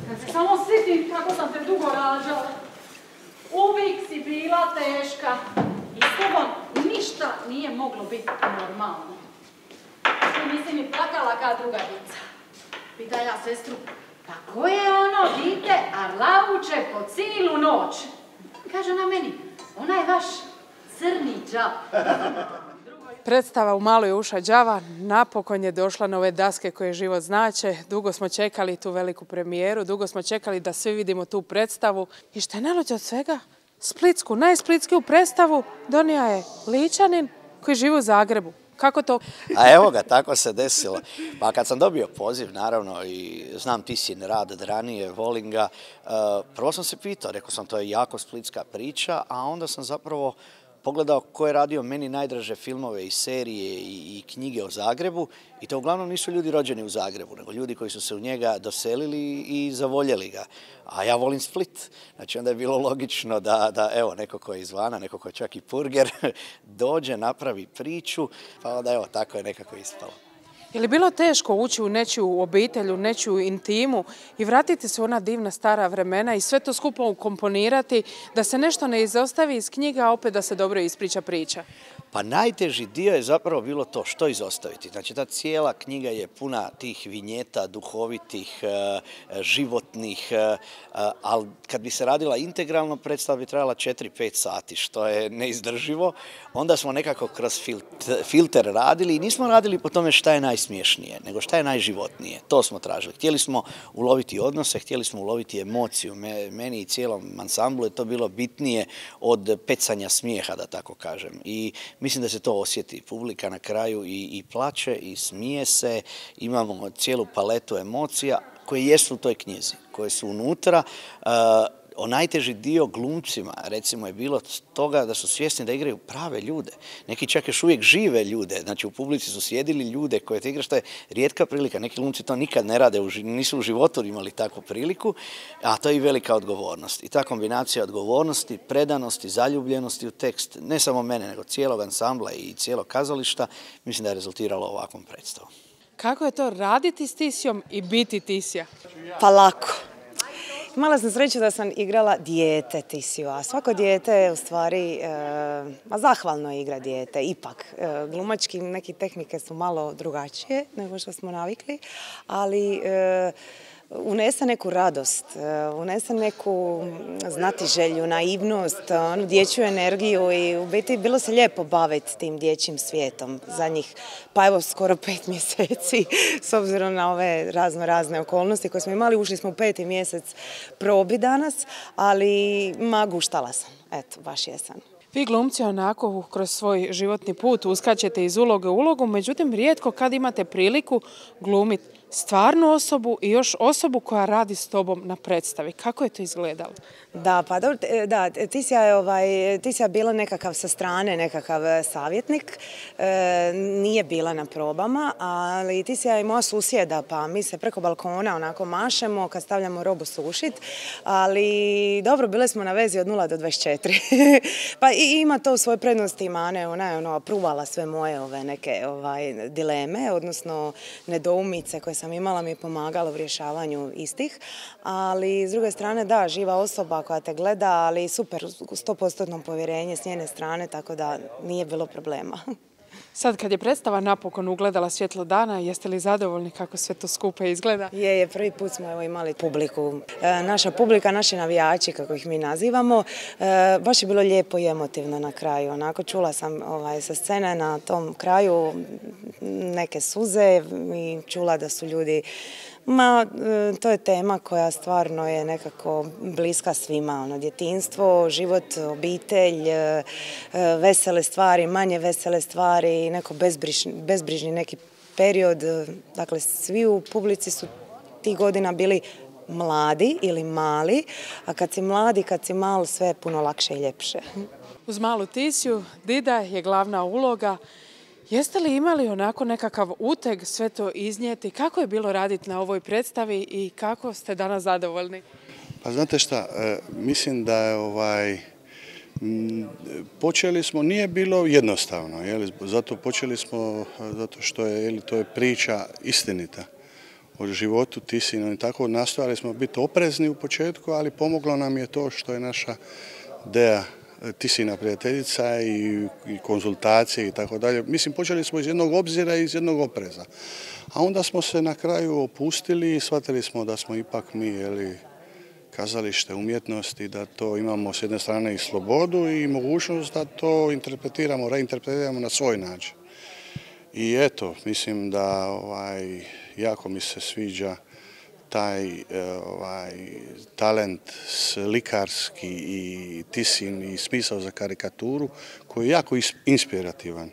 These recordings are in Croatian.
Kad se samo sjetim kako sam te dugo rađala, uvijek si bila teška i s tobom ništa nije moglo biti normalno. Ti nisi mi plakala kao druga djeca. Pita ja sestru, pa ko je ono dite, a lauče po cijelu noć? Kaže ona meni, onaj vaš crni đav. Predstava U maloj uša đava napokon je došla na ove daske koje život znače. Dugo smo čekali tu veliku premijeru, dugo smo čekali da svi vidimo tu predstavu. I što je najluđe od svega, splitsku, najsplitskiju predstavu donio je Ličanin koji živi u Zagrebu. Kako to? A evo ga, tako se desilo. Pa kad sam dobio poziv, naravno, i znam Tisin rad od ranije, volim ga, prvo sam se pitao, rekao sam to je jako splitska priča, a onda sam zapravo pogledao ko je radio meni najdraže filmove i serije i knjige o Zagrebu i to uglavnom nisu ljudi rođeni u Zagrebu, nego ljudi koji su se u njega doselili i zavoljeli ga. A ja volim Split. Znači onda je bilo logično da evo, neko ko je izvana, neko ko je čak i purger, dođe, napravi priču, pa onda evo, tako je nekako ispalo. Je li bilo teško ući u nečiju obitelj, u nečiju intimu i vratiti se u ona divna stara vremena i sve to skupo ukomponirati, da se nešto ne izostavi iz knjiga, a opet da se dobro ispriča priča? Pa najteži dio je zapravo bilo to što izostaviti. Znači ta cijela knjiga je puna tih vinjeta, duhovitih, životnih, ali kad bi se radila integralno, predstava bi trajala 4-5 sati, što je neizdrživo. Onda smo nekako kroz filter radili i nismo radili po tome šta je najsmiješnije, nego šta je najživotnije. To smo tražili. Htjeli smo uloviti odnose, htjeli smo uloviti emociju. Meni i cijelom ansamblu je to bilo bitnije od pecanja smijeha, da tako kažem. I mislim da se to osjeti. Publika na kraju i plače i smije se. Imamo cijelu paletu emocija koje jesu u toj knjizi, koje su unutra. Najteži dio glumcima, recimo, je bilo toga da su svjesni da igraju prave ljude. Neki čak još uvijek žive ljude. Znači, u publici su sjedili ljude koje te igra, što je rijetka prilika. Neki glumci to nikad ne rade, nisu u životu imali takvu priliku, a to je i velika odgovornost. I ta kombinacija odgovornosti, predanosti, zaljubljenosti u tekst, ne samo mene, nego cijelog ansambla i cijelog kazališta, mislim da je rezultiralo ovakvom predstavom. Kako je to raditi s Tisijom i biti Tisija? Pa lako. Imala sam sreću da sam igrala dijete Tisiju, a svako dijete je u stvari zahvalno igra dijete. Ipak, glumački neke tehnike su malo drugačije nego što smo navikli, ali unese neku radost, unese neku znatiželju, naivnost, onu dječju energiju i u biti bilo se lijepo baviti tim dječjim svijetom zadnjih, pa evo skoro 5 mjeseci, s obzirom na ove razne okolnosti koje smo imali. Ušli smo u 5. mjesec probi danas, ali guštala sam, eto, baš jesam. Vi glumci onako kroz svoj životni put uskačete iz uloge u ulogu, međutim rijetko kad imate priliku glumiti stvarnu osobu i još osobu koja radi s tobom na predstavi. Kako je to izgledalo? Da, pa dobro, da, Tisija je bila nekakav sa strane, nekakav savjetnik, nije bila na probama, ali Tisija je moja susjeda, pa mi se preko balkona onako mašemo kad stavljamo robu sušit, ali dobro, bile smo na vezi od 0 do 24. Pa i ima to u svojoj prednosti i mane, ona je pruvala sve moje neke dileme, odnosno nedoumice koje sam imala, mi je pomagalo u rješavanju istih, ali s druge strane da, živa osoba koja te gleda, ali super, 100% povjerenje s njene strane, tako da nije bilo problema. Sad kad je predstava napokon ugledala svjetlo dana, jeste li zadovoljni kako sve to skupa izgleda? Je, prvi put smo imali publiku. Naša publika, naši navijači, kako ih mi nazivamo, baš je bilo lijepo i emotivno na kraju. Onako čula sam sa scene na tom kraju neke suze i čula da su ljudi to je tema koja stvarno je nekako bliska svima. Djetinjstvo, život, obitelj, vesele stvari, manje vesele stvari, neko bezbrižni neki period. Dakle, svi u publici su tih godina bili mladi ili mali, a kad si mladi, kad si mal, sve je puno lakše i ljepše. Uz malu Tisiju, Dida je glavna uloga. Jeste li imali onako nekakav uteg sve to iznijeti? Kako je bilo raditi na ovoj predstavi i kako ste danas zadovoljni? Pa znate šta, mislim da je počeli smo, nije bilo jednostavno, zato počeli smo, zato što je, to je priča istinita o životu Tisinom i tako. Nastojali smo biti oprezni u početku, ali pomoglo nam je to što je naša Dea Tisina prijateljica i konzultacije i tako dalje. Mislim, počeli smo iz jednog obzira i iz jednog opreza. A onda smo se na kraju opustili i shvatili smo da smo ipak mi, kazalište umjetnosti, da to imamo s jedne strane i slobodu i mogućnost da to reinterpretiramo na svoj način. I eto, mislim da jako mi se sviđa taj talent slikarski i Tisin i smisao za karikaturu koji je jako inspirativan.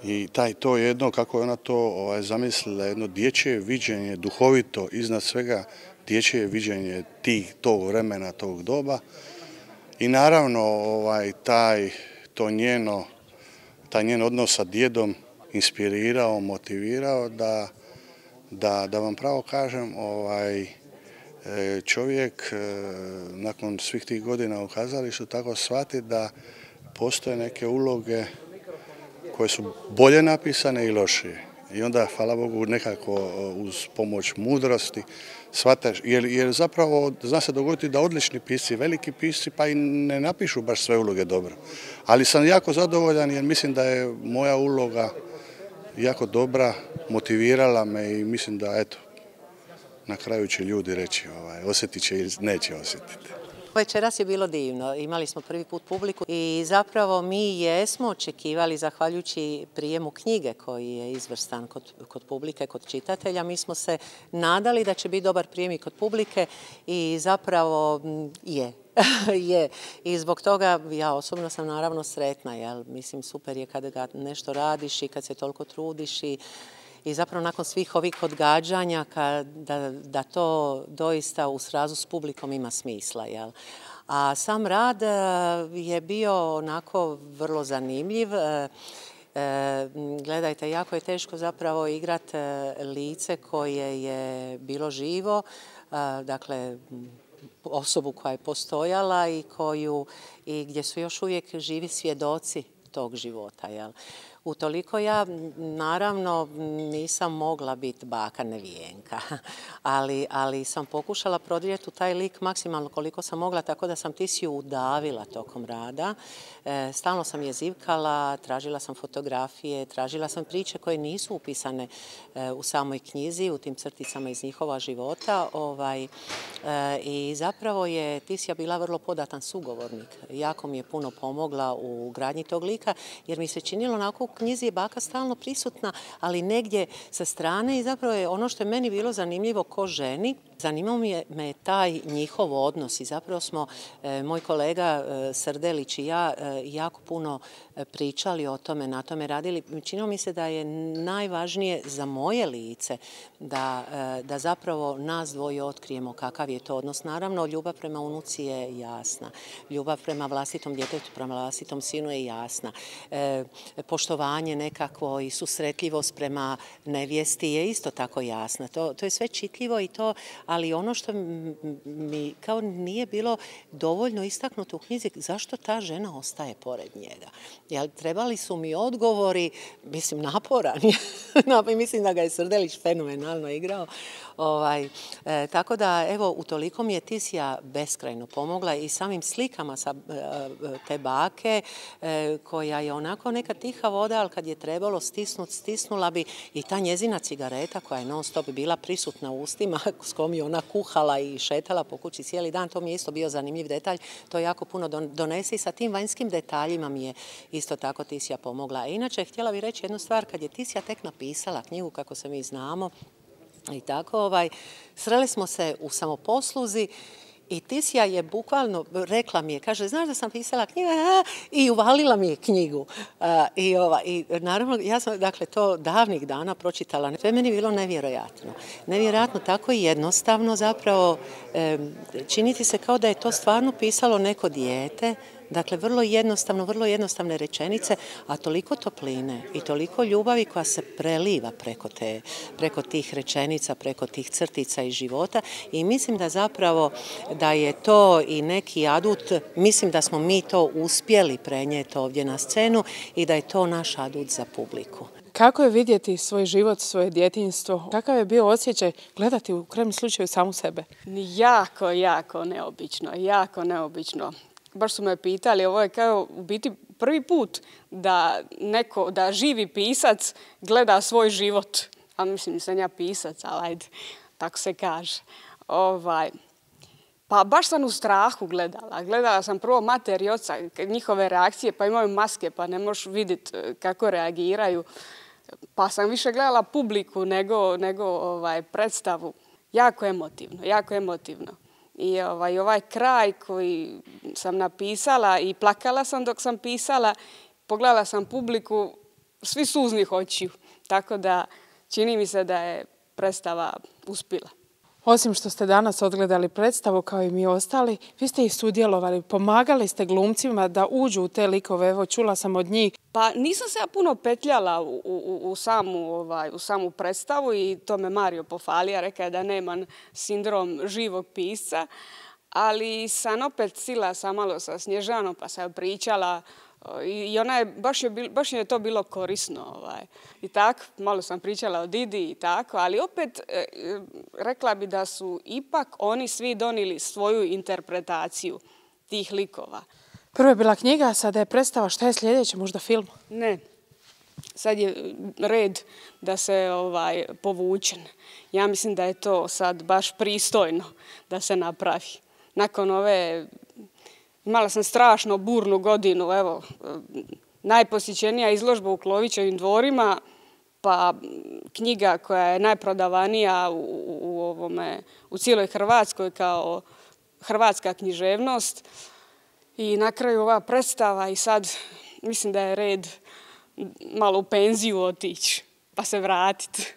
I to jedno, kako je ona to zamislila, jedno dječje viđenje, duhovito, iznad svega dječje viđenje tog vremena, tog doba. I naravno taj njen odnos sa djedom inspirirao, motivirao da vam pravo kažem, čovjek nakon svih tih godina u kazalištu tako shvati da postoje neke uloge koje su bolje napisane i lošije. I onda, hvala Bogu, nekako uz pomoć mudrosti shvataš, jer zapravo zna se dogoditi da odlični pisci, veliki pisci, pa i ne napišu baš sve uloge dobro. Ali sam jako zadovoljan jer mislim da je moja uloga jako dobra, motivirala me i mislim da, eto, na kraju će ljudi reći osjetit će ili neće osjetiti. Večeras je bilo divno, imali smo prvi put publiku i zapravo mi jesmo očekivali, zahvaljujući prijemu knjige koji je izvrstan kod publike, kod čitatelja, mi smo se nadali da će biti dobar prijem i kod publike i zapravo je. I zbog toga ja osobno sam naravno sretna, jer mislim super je kada nešto radiš i kad se toliko trudiš i zapravo nakon svih ovih odgađanja da to doista u srazu s publikom ima smisla. Jel? A sam rad je bio onako vrlo zanimljiv. Gledajte, jako je teško zapravo igrati lice koje je bilo živo, dakle osobu koja je postojala i gdje su još uvijek živi svjedoci tog života. Jel? Utoliko ja naravno nisam mogla biti baka Nevijenka, ali sam pokušala prodrijeti u taj lik maksimalno koliko sam mogla, tako da sam Tisiju udavila tokom rada. Stalno sam je zivkala, tražila sam fotografije, tražila sam priče koje nisu upisane u samoj knjizi, u tim crticama iz njihova života. I zapravo je Tisija bila vrlo podatan sugovornik. Jako mi je puno pomogla u gradnji tog lika, jer mi se činilo onako u knjizi je baka stalno prisutna, ali negdje sa strane i zapravo je ono što je meni bilo zanimljivo ko ženi, zanimao me taj njihov odnos i zapravo smo, moj kolega Srdelić i ja, jako puno pričali o tome, na tome radili. Činilo mi se da je najvažnije za moje lice da zapravo nas dvoje otkrijemo kakav je to odnos. Naravno, ljubav prema unuci je jasna. Ljubav prema vlastitom djetetu, prema vlastitom sinu je jasna. Poštovanje nekakvo i susretljivost prema nevjesti je isto tako jasna. To je sve čitljivo i to, ali ono što mi kao nije bilo dovoljno istaknuto u knjizi, zašto ta žena ostaje pored njega? Jer trebali su mi odgovori, mislim, naporan. Mislim da ga je Srdelić fenomenalno igrao. Tako da, evo, utoliko mi je Tisija beskrajno pomogla i samim slikama sa te bake, koja je onako neka tiha voda, ali kad je trebalo stisnula bi i ta njezina cigareta koja je non stop bila prisutna u ustima, s kojom je ona kuhala i šetala po kući cijeli dan. To mi je isto bio zanimljiv detalj. To jako puno donese i sa tim vanjskim detaljima mi je isto tako Tisija pomogla. Inače, htjela bih reći jednu stvar, kad je Tisija tek napisala knjigu, kako se mi znamo, i tako, sreli smo se u samoposluzi i Tisija je bukvalno rekla mi je, kaže, znaš da sam pisala knjigu, i uvalila mi je knjigu. I naravno, ja sam, dakle, to davnih dana pročitala. To je meni bilo nevjerojatno. Nevjerojatno, tako i jednostavno, zapravo, činiti se kao da je to stvarno pisalo neko dijete. Dakle, vrlo jednostavne rečenice, a toliko topline i toliko ljubavi koja se preliva preko tih rečenica, preko tih crtica iz života i mislim da zapravo da je to i neki adut, mislim da smo mi to uspjeli prenijeti ovdje na scenu i da je to naš adut za publiku. Kako je vidjeti svoj život, svoje djetinjstvo? Kakav je bio osjećaj gledati u krajnjem slučaju samu sebe? Jako, jako neobično, jako neobično. Baš su me pitali, ovo je kao u biti prvi put da živi pisac gleda svoj život. A mislim, nisam ja pisac, ali ajde, tako se kaže. Pa baš sam u strahu gledala. Gledala sam prvo mater i oca, njihove reakcije, pa imaju maske, pa ne možeš vidjeti kako reagiraju. Pa sam više gledala publiku nego predstavu. Jako emotivno, jako emotivno. I ovaj kraj koji sam napisala i plakala sam dok sam pisala, pogledala sam publiku, svi suznih očiju. Tako da čini mi se da je predstava uspjela. Osim što ste danas odgledali predstavu kao i mi ostali, vi ste i sudjelovali, pomagali ste glumcima da uđu u te likove, evo čula sam od njih. Pa nisam se ja puno petljala u samu predstavu i to me Mario pohvalio, rekao je da nemam sindrom živog pisca, ali sam opet sila sam malo sa Snježanom pa sam pričala i ona je, baš je to bilo korisno. I tako, malo sam pričala o Didi i tako, ali opet rekla bi da su ipak oni svi donijeli svoju interpretaciju tih likova. Prvo je bila knjiga, sada je predstava. Šta je sljedeće, možda film? Ne, sad je red da se povučen. Ja mislim da je to sad baš pristojno da se napravi. Nakon imala sam strašno burnu godinu, evo, najposjećenija izložba u Klovićevim dvorima, pa knjiga koja je najprodavanija u cijeloj Hrvatskoj kao hrvatska književnost. I na kraju ova predstava i sad mislim da je red malo u penziju otići pa se vratiti.